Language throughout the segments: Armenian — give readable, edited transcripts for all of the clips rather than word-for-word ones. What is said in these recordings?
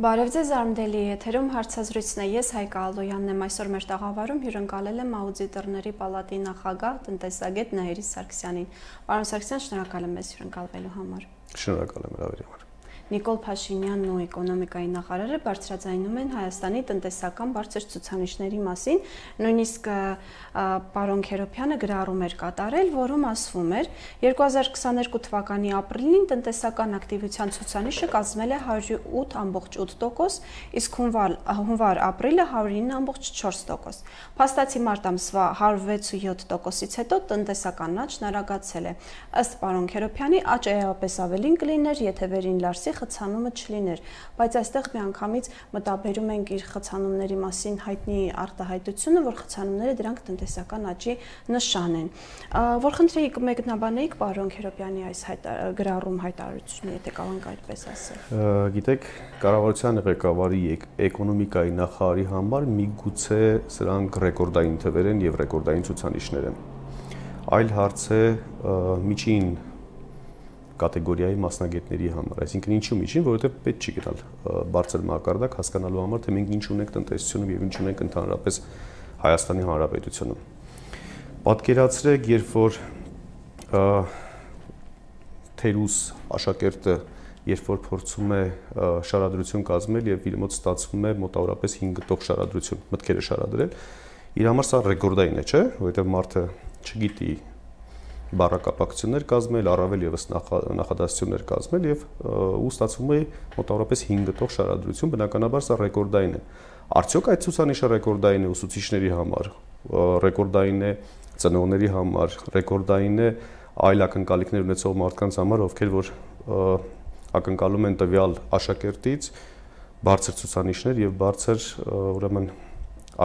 Բարև ձեզ, Արմդելի եթերում հարցազրույցն է, ես Հայկա Ալոյանն եմ, այսօր մեր տաղավարում հյուրընկալել եմ Աուդիտորների պալատի նախագահ տնտեսագետ Նահիրի Սարգսյանին։ Պարոն Սարգսյան, շնորհակալ եմ մեզ հյուրընկալվելու համար։ Շնորհակալ եմ հրավերի համար։ Նիկոլ Փաշինյանն ու էկոնոմիկայի նախարարը բարձրաձայնում են Հայաստանի տնտեսական բարձր ցուցանիշների մասին, նույնիսկ պարոն Քերոբյանը գրառում էր կատարել, որում ասվում էր 2022 թվականի ապրիլին տնտեսական ակտիվության ցուցանիշը կազմել է 108.8%, իսկ հունվար-ապրիլը 109.4%։ Փաստացի մարտ ամսվա 106.7%-ից հետո տնտեսական աճն արագացել է։ Ըստ պարոն Քերոբյանի աճը էապես ավելին կլիներ, եթե վերին Լարսի խցանումը չլիներ, բայց այստեղ միանգամից մտաբերում ենք իր խցանումների մասին հայտնի արտահայտությունը, որ խցանումները դրանք տնտեսական աճի նշան են։ Որ խնդրեի կմեկնաբանեիք պարոն Քերոբյանի այս գրառում հայտարարությունը, եթե կարող ենք այդպես ասել։ Գիտեք, կառավարության ղեկավարի էկոնոմիկայի նախարարի համար միգուցե սրանք ռեկորդային թվեր են եւ ռեկորդային ցուցանիշներ են։ Այլ հարց է միջին կատեգորիայի մասնագետների համար, այսինքն ինչու միջին, որովհետև պետք չի գնալ բարձր մակարդակ հասկանալու համար, թե մենք ինչ ունենք տնտեսությունում եւ ինչ ունենք ընդհանրապես Հայաստանի Հանրապետությունում։ Պատկերացրեք, երբ որ թերուս աշակերտը երբ որ փորձում է շարադրություն կազմել եւ իր մոտ ստացվում է մոտավորապես 5 գտող շարադրություն, մտքերը շարադրել, իր համար սա ռեկորդային է, չէ՞, որովհետև մարդը չգիտի բառակապակցություններ կազմել, առավել եւս նախադասություններ կազմել եւ ու ստացվում է մոտավորապես 5 գտող շարադրություն, բնականաբար սա ռեկորդային է։ Արդյոք այդ ցուցանիշը ռեկորդային է ուսուցիչների համար, ռեկորդային է ծնողների համար, ռեկորդային է այլ ակնկալիքներ ունեցող մարդկանց համար, ովքեր որ ակնկալում են տվյալ աշակերտից բարձր ցուցանիշներ եւ բարձր ուրեմն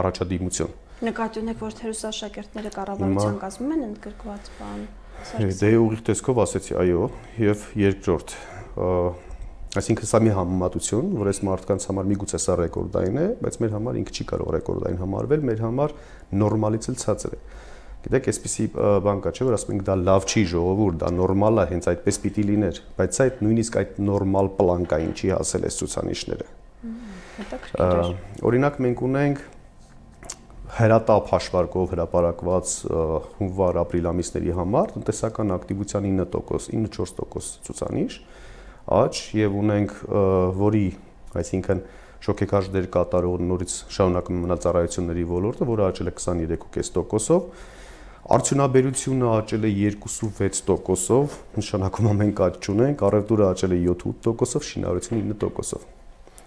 առաջադիմություն։ Նկատի ունեք, որ թերուս աշակերտները կառավարության կազմում են ընդգրկված բան։ Դե ուղիղ տեսքով ասեցի, այո, եւ երկրորդ, այսինքն սա մի համեմատություն, որ այս մարդկանց համար միգուցե սա ռեկորդային է, բայց մեր համար ինքը չի կարող ռեկորդային համարվել, մեր համար նորմալից էլ ցածր է։ Գիտեք, այսպեսի բան կա, չէ՞, որ ասում ենք դա լավ չի ժողովուրդ, դա նորմալ է, հենց այդպես պիտի լիներ, բայց այդ նույնիսկ այդ նորմալ պլանկային չի հասել այս ցուցանիշները։ Օրինակ մենք ունենք հրատապ հաշվարկով հրապարակված հունվար-ապրիլ ամիսների համար տնտեսական ակտիվության 9%, 9.4% ցուցանիշ աճ եւ ունենք որի, այսինքն շոկեքաշ դեր կատարող նորից շարունակում մնալ ծառայությունների ոլորտը, որը աճել է 23.5%-ով, արդյունաբերությունը աճել է 2.6%-ով, նշանակում է մենք աճ չունենք, առևտուրը աճել է 7.8%-ով, շինարարությունը 9%-ով։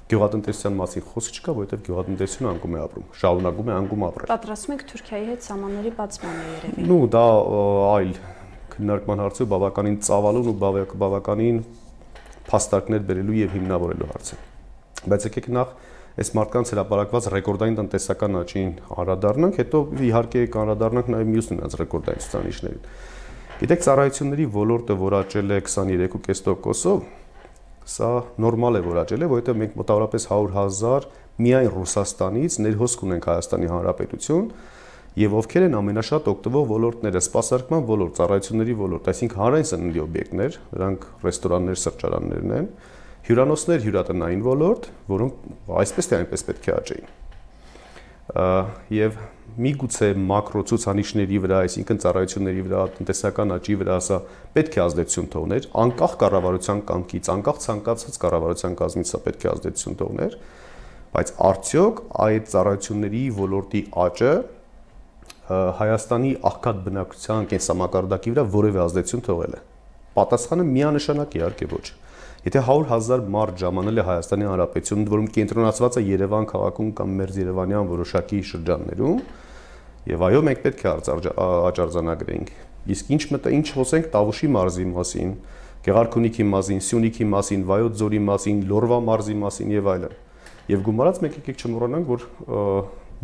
Գյուղատնտեսության մասին խոսք չկա, որովհետև գյուղատնտեսությունը անկում է ապրում, շարունակում է անկում ապրել։ Պատրաստում եք Թուրքիայի հետ սահմանների բացմանը երևի։ Նու դա այլ քննարկման հարց է, բավականին ծավալուն ու բավականին փաստարկներ բերելու եւ հիմնավորելու հարց է։ Բայց եկեք նախ այս մարդկանց հրապարակված ռեկորդային տնտեսական աճին անդրադառնանք, հետո իհարկե կանրադառնանք նաեւ մյուս նրանց ռեկորդային ցուցանիշներին։ Գիտեք, ծառայությունների ոլորտը, որ աճել է 23.5%-ով, սա նորմալ է, որ աճել է, որովհետև մենք մոտավորապես 100,000 միայն Ռուսաստանից ներհոսք ունենք Հայաստանի Հանրապետություն եւ ովքեր են ամենաշատ օգտվող ոլորտները՝ սպասարկման ոլորտ, ծառայությունների ոլորտ, այսինքն հանրային սննդի օբյեկտներ, դրանք ռեստորաններ, սրճարաններն են, հյուրանոցներ, հյուրատնային ոլորտ, որոնք այսպես թե այնպես պետք է աճեին։ Եվ միգուցե մակրո ցուցանիշների վրա, այսինքն ծառայությունների վրա, տնտեսական աճի վրա սա պետք է ազդեցություն թողներ, անկախ կառավարության կամքից, անկախ ցանկացած կառավարության կազմից սա պետք է ազդեցություն թողներ, բայց արդյոք այդ ծառայությունների ոլորտի աճը Հայաստանի աղքատ բնակչության կենսամակարդակի վրա որևէ ազդեցություն թողել է։ Պատասխանը միանշանակ իհարկե ոչ։ Եթե 100,000 մարդ ժամանել է Հայաստանի Հանրապետությունում, որում կենտրոնացված է Երևան քաղաքում կամ մերձ Երևանյան որոշակի շրջաններում, եւ այո, մենք պետք է աճարձանագրենք։ Իսկ ինչ խոսենք Տավուշի մարզի մասին, Գեղարքունիքի մասին, Սյունիքի մասին, Վայոց ձորի մասին, Լորվա մարզի մասին եւ այլն։ Եւ գումարած մեկ եկեք չմոռանանք, որ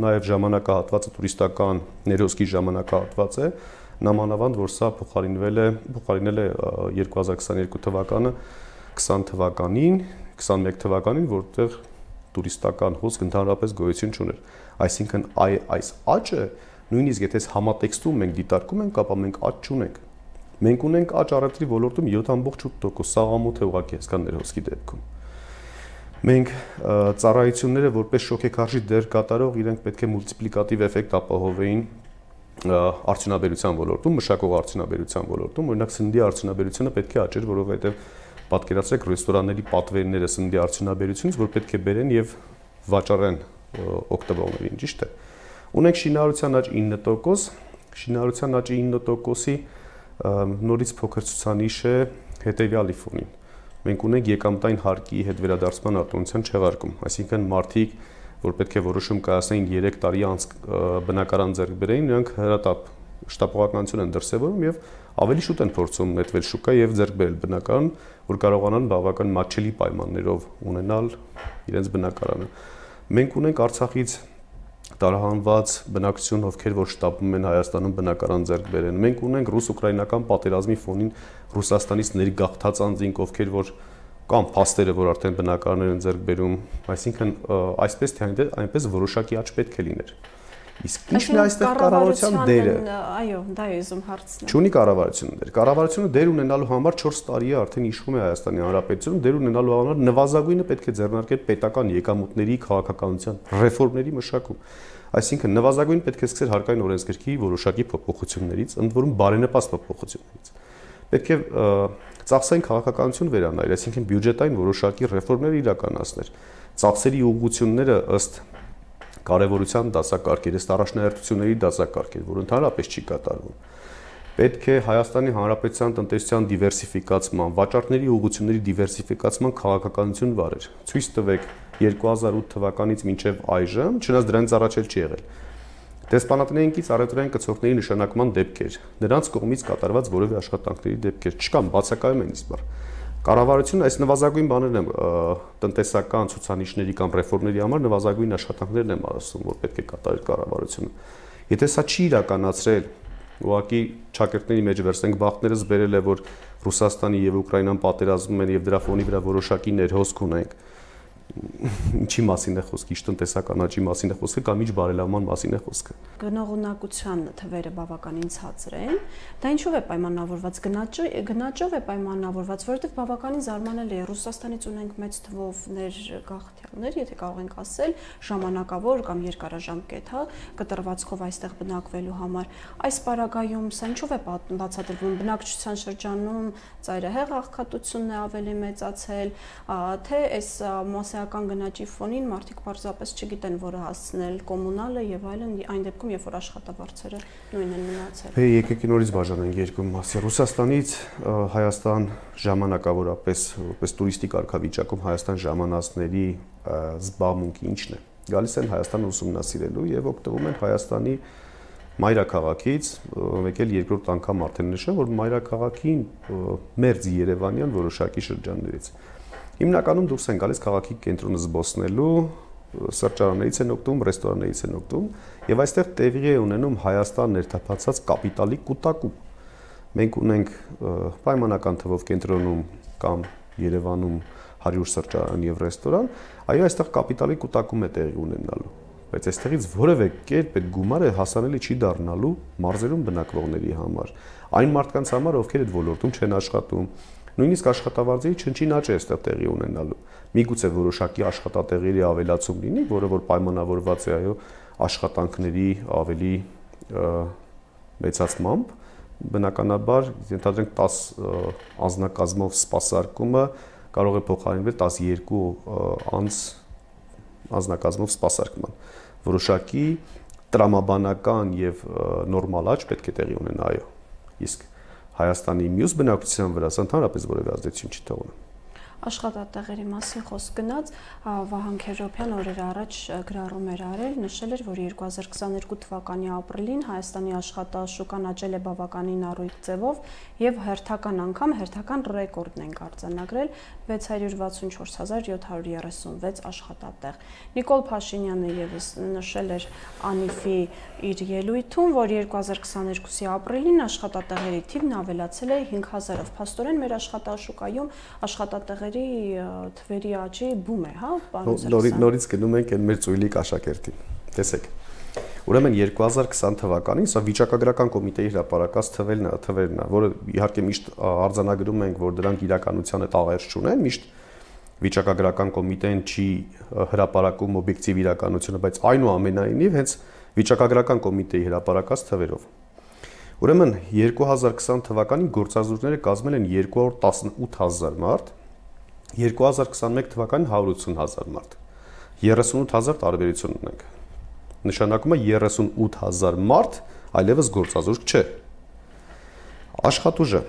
նաեւ ժամանակահատվածը տուրիստական ներհոսքի ժամանակահատված է, նամանավանդ որ սա փոխարինել է 2022 թվականը 20 թվականին, 21 թվականին, որտեղ տուրիստական հոսք ընդհանրապես գոյություն չուներ։ Այսինքն այս աճը նույնիսկ եթե համատեքստում մենք դիտարկում ենք, ապա մենք աճ չունենք։ Մենք ունենք աճ առևտրի ոլորտում 7.8%, սաղամոթ է ուղղակի այսքան ներհոսքի դեպքում։ Մենք ծառայությունները որպես շոկեքարշի դեր կատարող իրենք պետք է մուլտիպլիկատիվ էֆեկտ ապահովեին արդյունաբերության ոլորտում, մշակող արդյունաբերության ոլորտում, օրինակ սննդի արդյունաբերությունը պետք է աճեր, որովհետև պատկերացրեք ռեստորանների պատվերները սննդի արդյունաբերությունից, որ պետք է բերեն եւ վաճառեն օգտվողներին, ճիշտ է։ Ունենք շինարարության աճ 9%, շինարարության աճի 9%-ի նորից փոքր ցուցանիշ է հետեւյալի ֆոնին։ Մենք ունենք եկամտային հարկի հետ վերադարձման արտոնության չեղարկում, այսինքն մարդիկ, որ պետք է որոշում կայացնեին 3 տարի անց բնակարան ձեռք բերեին, նրանք հրատապ շտապողականություն են դրսևորում եւ ավելի շուտ են փորձում նետվել շուկա եւ ձեռք բերել բնակարան, որ կարողանան բավական մատչելի պայմաններով ունենալ իրենց բնակարանը։ Մենք ունենք Արցախից տարահանված բնակչություն, ովքեր որ շտապում են Հայաստանում բնակարան ձեռք բերեն։ Մենք ունենք ռուս-ուկրաինական պատերազմի ֆոնին Ռուսաստանից ներգաղթած անձինք, ովքեր որ կամ փաստերը, որ արդեն բնակարաններ են ձեռք բերում, այսինքն այսպես թե այնպես որոշակի աճ պետք է լիներ։ Իսկ ինչն է այստեղ կառավարության դերը։ Այո, դա է ուզում հարցնել։ Չունի կառավարությունը դեր։ Կառավարությունը դեր ունենալու համար 4 տարի է արդեն իշխում է Հայաստանի Հանրապետությունը, դեր ունենալու համար նվազագույնը պետք է ձեռնարկել պետական եկամուտների, քաղաքականության ռեֆորմների մշակում։ Այսինքն նվազագույն պետք է սկսել հարկային օրենսգրքի որոշակի փոփոխություններից, ընդ որում բարենպաստ փոփոխություններից։ Պետք է ծախսային քաղաքականություն վերանայել, այսինքն բյուջետային որոշակի ռեֆորմներ իրականացնել։ Ծախսերի ուղղությունները ըստ կարևորության դասակարգեր, ըստ առաջնահերթությունների դասակարգեր, որ ընդհանրապես չի կատարվում։ Պետք է Հայաստանի Հանրապետության տնտեսության դիվերսիֆիկացման, վաճառքների ուղղությունների դիվերսիֆիկացման քաղաքականություն վարեր։ Ցույց տվեք 2008 թվականից մինչև այժմ, չնայած դրանից առաջ էլ չի եղել։ Դեսպանատներինքից առևտրային կցորդների նշանակման դեպքեր, նրանց կողմից կատարված որևէ աշխատանքների դեպքեր չկան, բացակայում են իսկ բար։ Կառավարությունը այս նվազագույն բաներն են տնտեսական ցուցանիշների կամ ռեֆորմների համար նվազագույն աշխատանքներն են ասում, որ պետք է կատարել կառավարությունը։ Եթե սա չի իրականացրել, ուղղակի ճակերտների մեջ վերցնենք բախտներս բերել է, որ Ռուսաստանի եւ Ուկրաինան պատերազմում են եւ դրա ֆոնի վրա որոշակի ներհոսք ունենք։ Ինչի մասին է խոսքը, ինչ տնտեսական աճի մասին է խոսքը կամ ինչ բարելավման մասին է խոսքը։ Գնողունակության թվերը բավականին ցածր են։ Դա ինչով է պայմանավորված, գնաճով է պայմանավորված, որովհետև բավականին զարմանալի է, Ռուսաստանից ունենք մեծ թվով ներգաղթյալներ, եթե կարող ենք ասել, ժամանակավոր կամ երկարաժամկետ, հա, կտրվածքով այստեղ բնակվելու համար։ Այս պարագայում սա ինչով է բացատրվում, բնակչության շրջանում ծայրահեղ աղքատությունն է ավելի մեծացել, թե այս մասսայական գնաճի ֆոնին մարդիկ պարզապես չգիտեն որը հասցնել կոմունալը եւ այլն, այն դեպքում երբ որ աշխատավարձերը նույնն են մնացել։ Եկեք նորից բաժանենք երկու մասի։ Ռուսաստանից Հայաստան ժամանակավորապես որպես տուրիստի կարգավիճակում Հայաստան ժամանածների զբաղմունքը ինչն է։ Գալիս են Հայաստանը ուսումնասիրելու եւ օգտվում են Հայաստանի մայրաքաղաքից, մեկ էլ երկրորդ անգամ արդեն նշեմ, որ մայրաքաղաքին մերձ Երևանյան որոշակի շրջաններից հիմնականում դուրս են գալիս քաղաքի կենտրոնը զբոսնելու, սրճարաններից են օգտվում, ռեստորաններից են օգտվում եւ այստեղ տեղի է ունենում Հայաստան ներթափանցած կապիտալի կուտակում։ Մենք ունենք պայմանական թվով կենտրոնում կամ Երևանում 100 սրճարան եւ ռեստորան, այո, այստեղ կապիտալի կուտակում է տեղի ունենալու, բայց այստեղից որևէ կերպ այդ գումարը հասանելի չի դառնալու մարզերում բնակվողների համար, այն մարդկանց համար, ովքեր այդ ոլորտում չեն աշխատում։ Նույնիսկ աշխատավարձերի չնչին աճ է այստեղ տեղի ունենալու։ Միգուցե որոշակի աշխատատեղերի ավելացում լինի, որը որ պայմանավորված է այո աշխատանքների ավելի մեծացմամբ, բնականաբար ենթադրենք 10 անձնակազմով սպասարկումը կարող է փոխարինվել 12 անձ անձնակազմով սպասարկման։ Որոշակի տրամաբանական եւ նորմալ աճ պետք է տեղի ունենա, այո։ Իսկ Հայաստանի մյուս բնակչության վրա ընդհանրապես որևէ ազդեցություն չի թողնում։ Աշխատատեղերի մասին խոսք գնաց, Վահան Քերոբյան օրեր առաջ գրառում էր արել, նշել էր, որ 2022 թվականի ապրիլին Հայաստանի աշխատաշուկան աճել է բավականին առույգ ձևով եւ հերթական ռեկորդն են արձանագրել 664,736 աշխատատեղ։ Նիկոլ Փաշինյանը եւս նշել էր Անիֆի իր ելույթում, որ 2022-ի ապրիլին աշխատատեղերի թիվն ավելացել է 5000-ով։ Փաստորեն մեր աշխատաշուկայում աշխատատեղերի թվերի աճի բում է, հա, պարոն Սարգսյան։ Նորից գնում ենք այն մեր ծույլիկ աշակերտին։ Տեսեք։ Ուրեմն 2020 թվականին սա վիճակագրական կոմիտեի հրապարակած թվերն է, որը իհարկե միշտ արձանագրում ենք, որ դրանք իրականության հետ աղերս չունեն, միշտ վիճակագրական կոմիտեն չի հրապարակում օբյեկտիվ իրականությունը, բայց այնուամենայնիվ հենց վիճակագրական կոմիտեի հրապարակած թվերով։ Ուրեմն 2020 թվականին գործազուրկները կազմել են 218,000 մարդ, 2021 թվականին 180,000 մարդ։ 38,000 տարբերություն ունենք։ Նշանակում է 38,000 մարդ այլևս գործազուրկ չէ։ Աշխատուժը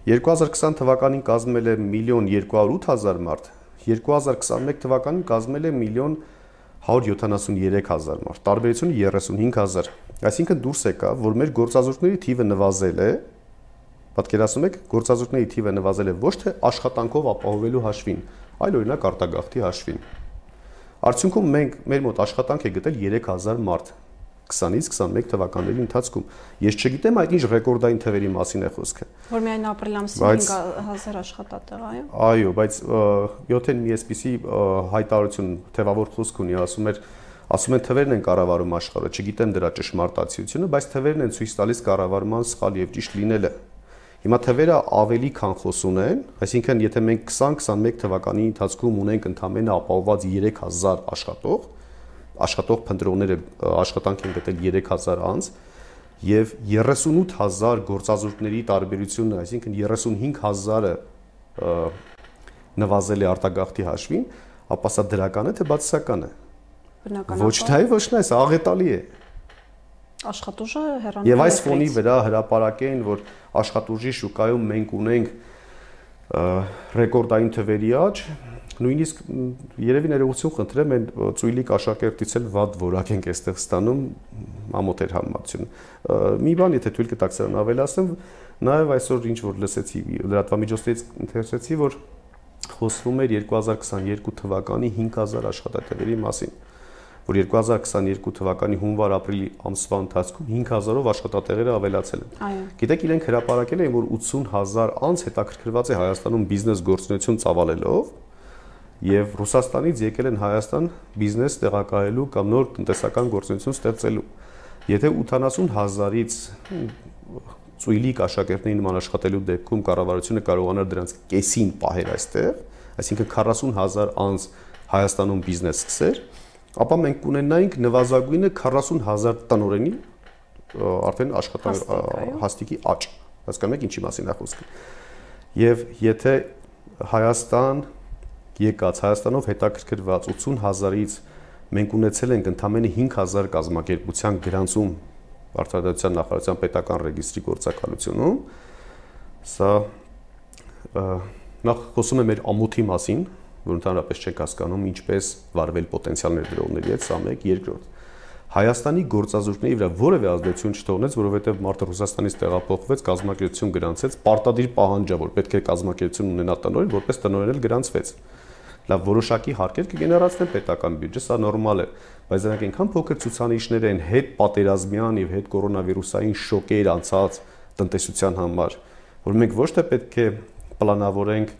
2020 թվականին կազմել է 1,208,000 մարդ, 2021 թվականին կազմել է 1,173,000 մարդ, տարբերությունը 35,000, այսինքն դուրս եկավ, որ մեր գործազուրկների թիվը նվազել է, պատկերացնում եք, գործազուրկների թիվը նվազել է ոչ թե աշխատանքով ապահովելու հաշվին, այլ օրինակ արտագաղթի հաշվին։ Արդյունքում մեր մոտ աշխատանք է գտել 3,000 մարդ 20-ից 21 թվականների ընթացքում։ Ես չգիտեմ այդ ինչ ռեկորդային թվերի մասին է խոսքը։ Որ միայն ապրիլ ամսին 5,000 աշխատատեղ, այո։ Այո, բայց 7-ին մի էսպիսի հայտարարություն թվավոր խոսք ունի, ասում են թվերն են կառավարում աշխարհը, չգիտեմ դրա ճշմարտացիությունը, բայց թվերն են ցույց տալիս կառավարման սխալ եւ ճիշտ լինելը։ Հիմա թվերը ավելի քան խոսուն են, այսինքն եթե մենք 20-21 թվականի ընթացքում ունենք ընդամենը ապահովված 3,000 աշխատող փնտրողները աշխատանք են գտել 3,000 անց եւ 38,000 գործազուրկների տարբերությունը, այսինքն 35,000-ը նվազել է արտագաղթի հաշվին, ապա սա դրական է թե բացասական է։ Բնականաբար ոչ թե, սա աղետալի է։ Աշխատուժը հեռանում է։ Եվ այս ֆոնի վրա հրապարակեն, որ աշխատուժի շուկայում մենք ունենք ռեկորդային թվերի աճ, նույնիսկ երևի ներողություն խնդրեմ, այն ծույլիկ աշակերտից էլ վատ որակ ենք այստեղ ստանում ամոթ էր համացություն։ Մի բան, եթե թույլ կտաք սրան ավելացնեմ, նաև այսօր ինչ որ լսեցի լրատվամիջոցներից ընթերցեցի, որ խոսվում էր 2022 թվականի 5,000 աշխատատեղերի մասին, որ 2022 թվականի հունվար-ապրիլի ամսվա ընթացքում 5,000-ով աշխատատեղերը ավելացել են։ Այո։ Գիտեք, իրենք հրապարակել են, որ 80,000 անց հետաքրքրված է Հայաստանում բիզնես գործունեություն ծավալելով, եւ Ռուսաստանից եկել են Հայաստան բիզնես տեղակայելու կամ նոր տնտեսական գործունեություն ստեղծելու։ Եթե 80,000-ից ծույլիկ աշակերտների նման աշխատելու դեպքում կառավարությունը կարողանար դրանց կեսին պահել այստեղ, այսինքն 40,000 անց Հայաստանում բիզնես սկսեր, ապա մենք կունենայինք նվազագույնը 40,000 տնօրենի արդեն հաստիկի աճ։ Հասկանում եք ինչի մասին է խոսքը։ Եվ եթե Հայաստանով հետաքրքրված 80,000-ից մենք ունեցել ենք ընդամենը 5,000 կազմակերպության գրանցում Արտադրության նախարարության պետական ռեգիստրի գործակալությունում, սա նախ խոսում է մեր ամոթի մասին, որ ընդհանրապես չենք հասկանում ինչպես վարվել պոտենցիալ ներդրողների հետ, սա մեկ, երկրորդ։ Հայաստանի գործազուրկների վրա որևէ ազդեցություն չթողնեց, որովհետև մարդը Ռուսաստանից տեղափոխվեց, կազմակերպություն գրանցեց, պարտադիր պահանջ է, որ պետք է կազմակերպություն ունենա տնօրեն, որպես տնօրեն էլ գրանցվեց։ Լավ, որոշակի հարկեր կգեներացնեն պետական բյուջե, սա նորմալ է, բայց դրանք այնքան փոքր ցուցանիշներ են հետ պատերազմյան եւ հետ կորոնավիրուսային շոկեր անցած տնտեսության համար, որ մենք ոչ թե պետք է պլանավորենք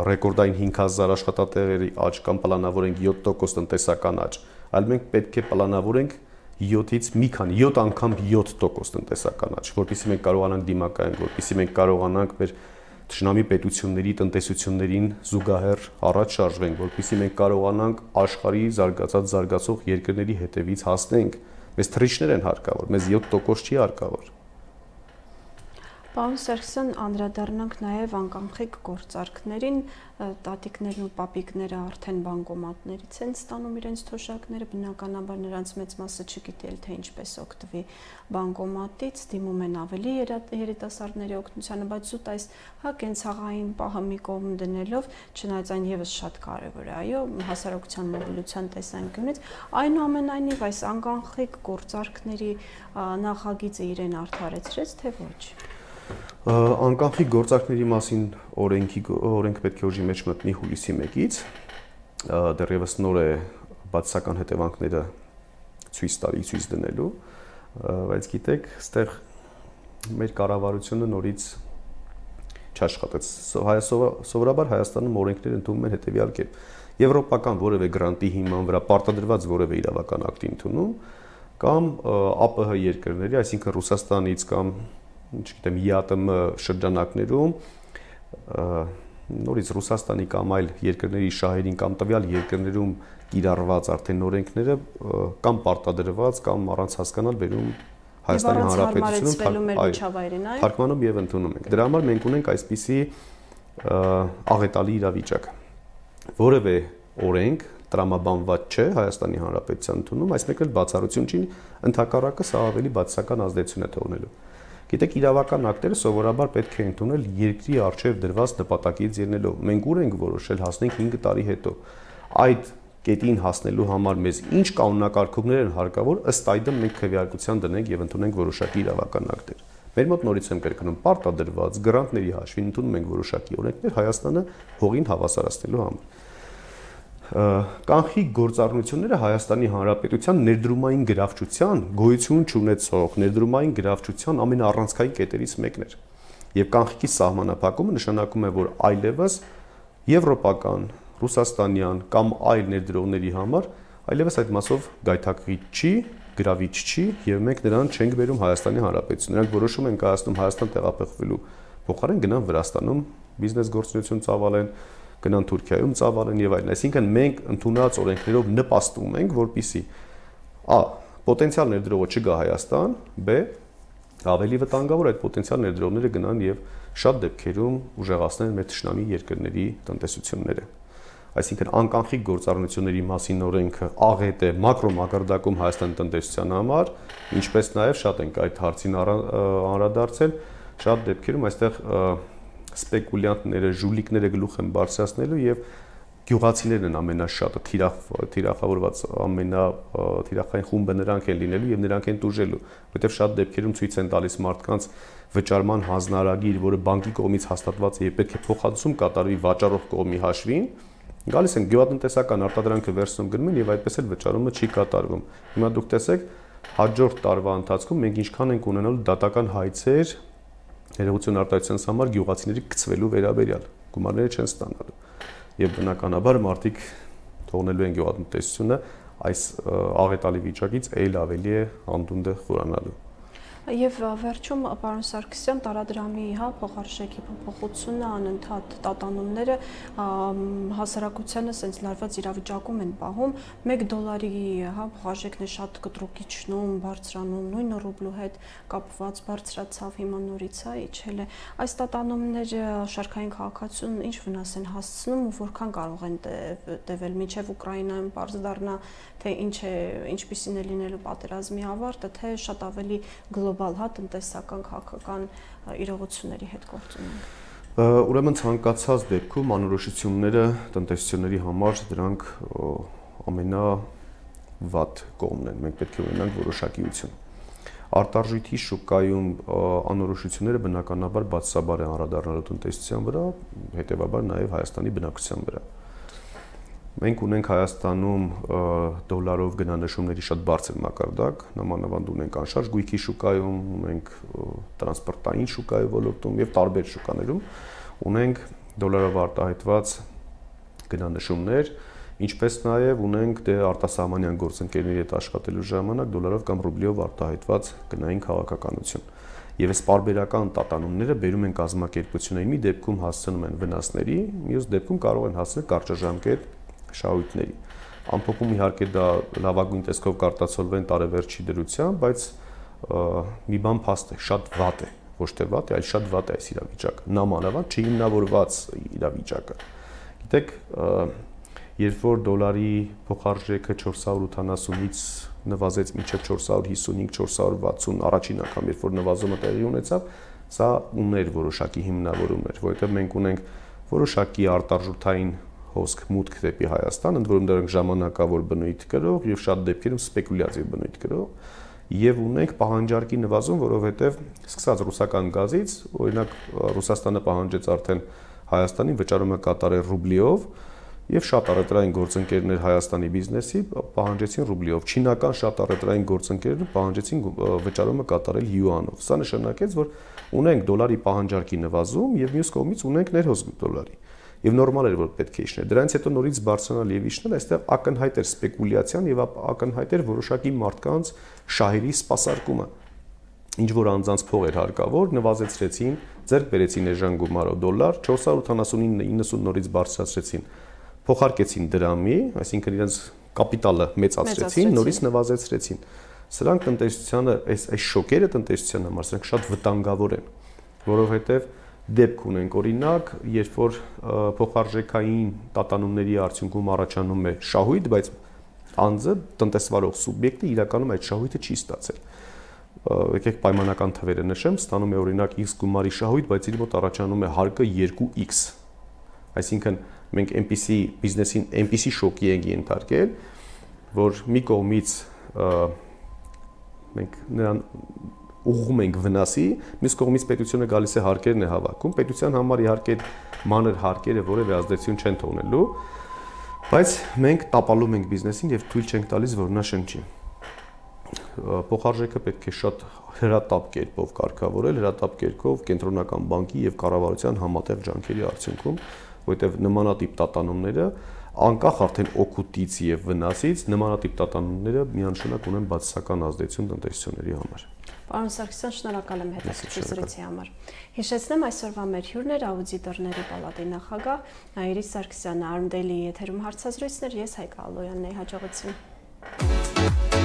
ռեկորդային 5,000 աշխատատեղերի աճ կամ պլանավորենք 7% տնտեսական աճ, այլ մենք պետք է պլանավորենք 7-ից մի քանի 7 անգամ 7% տնտեսական աճ, որպեսզի մենք կարողանանք դիմակայենք, որպեսզի մենք կարողանանք մեր թշնամի պետությունների տնտեսություններին զուգահեռ առաջ շարժվենք, որպեսզի մենք կարողանանք աշխարհի զարգացող երկրների հետևից հասնենք։ Մեզ թռիչքներ են հարկավոր, մեզ 7% չի հարկավոր։ Պարոն Սարգսյան, անդրադառնանք նաև անկախիկ գործարքներին, տատիկներն ու պապիկները արդեն բանկոմատներից են ստանում իրենց թոշակները, բնականաբար նրանց մեծ մասը չգիտել թե ինչպես օգտվի բանկոմատից, դիմում են ավելի երիտասարդների օգնությանը, բայց զուտ այս կենցաղային պահը մի կողմ դնելով, չնայած այն եւս շատ կարևոր է, այո, հասարակության մոբիլության տեսանկյունից, այնուամենայնիվ այս անկախիկ գործարքների նախագիծը իրեն արդարեցրեց, թե ոչ։ Անկախիկ գործարքների մասին օրենք պետք է ուժի մեջ մտնի հուլիսի 1-ից, դեռևս նոր է բացասական հետևանքները ցույց դնելու, բայց գիտեք, այստեղ մեր կառավարությունը նորից չաշխատեց։ Սովորաբար Հայաստանում օրենքները ընդունում են հետևյալ կերպ. եվրոպական որևէ գրանտի հիման վրա պարտադրված որևէ իրավական ակտի ընդունում կամ ԱՊՀ երկրների, այսինքն Ռուսաստանից կամ չգիտեմ, ԵԱՏՄ շրջանակներում նորից Ռուսաստանի կամ այլ երկրների շահերին կամ տվյալ երկրներում կիրառված արդեն օրենքները կամ պարտադրված կամ առանց հասկանալ բերում Հայաստանի Հանրապետությունում թարգմանում եւ ընդունում ենք։ Դրա համար մենք ունենք այսպիսի աղետալի իրավիճակ։ Որևէ օրենք տրամաբանված չէ Հայաստանի Հանրապետության ընդունում, այս մեկն էլ բացառություն չի, ընդհակառակը սա ավելի բացասական ազդեցություն է թողնելու։ Գիտեք, իրավական ակտերը սովորաբար պետք է ընդունել երկրի առջև դրված նպատակից ելնելով։ Մենք ուր ենք որոշել հասնենք 5 տարի հետո։ Այդ կետին հասնելու համար մեզ ինչ կանոնակարգումներ են հարկավոր, ըստ այդմ մենք քվեարկության դնենք եւ ընդունենք որոշակի իրավական ակտեր։ Մեր մոտ նորից եմ կրկնում, պարտադրված գրանտների հաշվին ընդունում ենք որոշակի օրենքներ Հայաստանը հողին հավասարացնելու համար։ Կանխիկ գործառնությունները Հայաստանի Հանրապետության ներդրումային գրավչության գոյություն չունեցող ներդրումային գրավչության ամենաառանցքային կետերից մեկն էր։ Եվ կանխիկի սահմանափակումը նշանակում է, որ այլևս եվրոպական, ռուսաստանյան կամ այլ ներդրողների համար այլևս այդ մասով գայթակղիչ չի, գրավիչ չի եւ մենք նրան չենք բերում Հայաստանի Հանրապետություն։ Նրանք որոշում են կայացնում Հայաստան տեղափոխվելու փոխարեն գնան Վրաստանում բիզնես գործունեություն ծավալեն, գնան Թուրքիայում ծավալեն եւ այլն։ Այսինքն մենք ընդունած օրենքներով նպաստում ենք, որպեսզի a. պոտենցիալ ներդրողը չգա Հայաստան, b. ավելի վտանգավոր այդ պոտենցիալ ներդրողները գնան եւ շատ դեպքերում ուժեղացնեն մեր թշնամի երկրների տնտեսությունները։ Այսինքն անկանխիկ գործառնությունների մասին օրենքը աղետ է մակրո մակարդակում Հայաստանի տնտեսության համար, ինչպես նաեւ շատ ենք այդ հարցին անդրադարձել, շատ դեպքերում այստեղ սպեկուլյանտները, ժուլիկները գլուխ են բարձրացնելու եւ գյուղացիներն են ամենաշատը թիրախավորված թիրախային խումբը նրանք են լինելու եւ նրանք են տուժելու, որովհետեւ շատ դեպքերում ցույց են տալիս մարդկանց վճարման հանձնարարագիր, որը բանկի կողմից հաստատված է եւ պետք է փոխհատուցում կատարվի վաճառող կողմի հաշվին, գալիս են գյուղատնտեսական արտադրանքը վերցնում գնում են եւ այդպես էլ վճարումը չի կատարվում։ Հիմա դուք տեսեք, հաջորդ տարվա ընթացքում մենք ինչքան ենք ունենալու դատական հայցեր ներողություն արտահայտության համար գյուղացիների գծվելու վերաբերյալ գումարները չեն ստանալու եւ բնականաբար մարդիկ թողնելու են գյուղատնտեսությունը այս աղետալի վիճակից այլ ավելի է անդունդը խորանալու։ Եվ վերջում պարոն Սարգսյան տարադրամի փոխարժեքի փոփոխությունը անընդհատ տատանումները հասարակությանը սենց լարված իրավիճակում են պահում $1 փոխարժեքն է շատ կտրուկ իջնում, բարձրանում, նույն ռուբլու հետ կապված բարձրացավ, հիմա նորից իջել է։ Այս տատանումները շարքային քաղաքացիությունն ինչ վնաս են հասցնում ու որքան կարող են տևել մինչև Ուկրաինայում պարզ դառնա, թե ինչպիսին է լինելու պատերազմի ավարտը, թե շատ ավելի գլոբալ տնտեսական քաղաքական իրողությունների հետ գործ ունենք։ Ուրեմն ցանկացած դեպքում անորոշությունները տնտեսությունների համար դրանք ամենավատ կողմն են։ Մենք պետք է ունենանք որոշակիություն։ Արտարժույթի շուկայում անորոշությունները բնականաբար բացասաբար են անդրադառնալու տնտեսության վրա, հետևաբար նաև Հայաստանի բնակչության վրա։ Մենք ունենք Հայաստանում դոլարով գնանշումների շատ բարձր մակարդակ, նամանավանդ ունենք անշարժ գույքի շուկայում, ունենք տրանսպորտային շուկայի ոլորտում եւ տարբեր շուկաներում ունենք դոլարով արտահայտված գնանշումներ, ինչպես նաեւ ունենք արտասահմանյան գործընկերների հետ աշխատելու ժամանակ դոլարով կամ ռուբլիով արտահայտված գնային քաղաքականություն։ Եվ այս պարբերական տատանումները բերում են կազմակերպությունների, մի դեպքում հասցնում են վնասների, մյուս դեպքում կարող են հասնել կարճաժամկետ շահույթների։ Ամփոփում իհարկե դա լավագույն տեսքով կարտացոլվեն տարեվերջի դրությամբ, բայց մի բան փաստ է, շատ վատ է, ոչ թե վատ է, այլ շատ վատ է այս իրավիճակը, նամանավանդ չհիմնավորված իրավիճակը։ Գիտեք, երբ որ դոլարի փոխարժեքը 480-ից նվազեց մինչև 455-460 առաջին անգամ, երբ որ նվազումը տեղի ունեցավ, սա ուներ որոշակի հիմնավորումներ, որովհետև մենք ունենք որոշակի արտարժութային հոսք մուտք դեպի Հայաստան, ընդ որում դրանք ժամանակավոր բնույթ կրող եւ շատ դեպքերում սպեկուլյատիվ բնույթ կրող եւ ունենք պահանջարկի նվազում, որովհետեւ սկսած ռուսական գազից, օրինակ Ռուսաստանը պահանջեց արդեն Հայաստանին վճարումը կատարել ռուբլիով եւ շատ առևտրային գործընկերներ Հայաստանի բիզնեսի պահանջեցին ռուբլիով, չինական շատ առևտրային գործընկերները պահանջեցին վճարումը կատարել յուանով։ Սա նշանակեց, որ ունենք դոլարի պահանջարկի նվազում եւ մյուս կողմից ունենք ներհոսք դոլարի։ Եվ նորմալ էր, որ պետք է իջներ։ Դրանից հետո նորից բարձրանալ եւ իջնել, այստեղ ակնհայտ էր սպեկուլյացիան եւ ակնհայտ էր որոշակի մարդկանց շահերի սպասարկումը։ ինչ որ անձանց փող էր հարկավոր, նվազեցրեցին, ձեռք բերեցին էժան գումարով դոլար, 479.90 նորից բարձրացրեցին, փոխարկեցին դրամի, այսինքն իրենց կապիտալը մեծացրեցին, նորից նվազեցրեցին։ Սրանք տնտեսությանը, այս շոկերը տնտեսության համար սրանք շատ վտանգավոր են, որովհետև դեպք ունենք օրինակ, երբ որ փոխարժեքային տատանումների արդյունքում առաջանում է շահույթ, բայց անձը տնտեսվարող սուբյեկտը իրականում այդ շահույթը չի ստացել։ Եկեք պայմանական թվերը նշեմ, ստանում է օրինակ X գումարի շահույթ, բայց իր մոտ առաջանում է հարկը 2x։ Այսինքն մենք այնպիսի բիզնեսին այնպիսի շոկի ենք ենթարկել, որ մի կողմից մենք նրան ուղղում ենք վնասի, մյուս կողմից պետությունը գալիս է հարկերն է հավաքում, պետության համար իհարկե մանր հարկերը որևէ ազդեցություն չեն թողնելու, բայց մենք տապալում ենք բիզնեսին եւ թույլ չենք տալիս, որ նա շնչի։ Փոխարժեքը պետք է շատ հրատապ կերպով կարգավորել, հրատապ կերպով կենտրոնական բանկի եւ կառավարության համատեղ ջանքերի արդյունքում, որովհետեւ նմանատիպ տատանումները անկախ արդեն օգուտից եւ վնասից նմանատիպ տատանումները միանշանակ ունեն բացասական ազդեցություն տնտեսությունների համար։ Պարոն Սարգսյան, շնորհակալ եմ հետաքրքիր զրույցի համար։ Հիշեցնեմ, այսօրվա մեր հյուրն էր աուդիտորների պալատի նախագահ Այրիս Սարգսյանը, Arm Daily եթերում հարցազրույցներ, ես Հայկ Ալոյանն եմ, հաջողություն։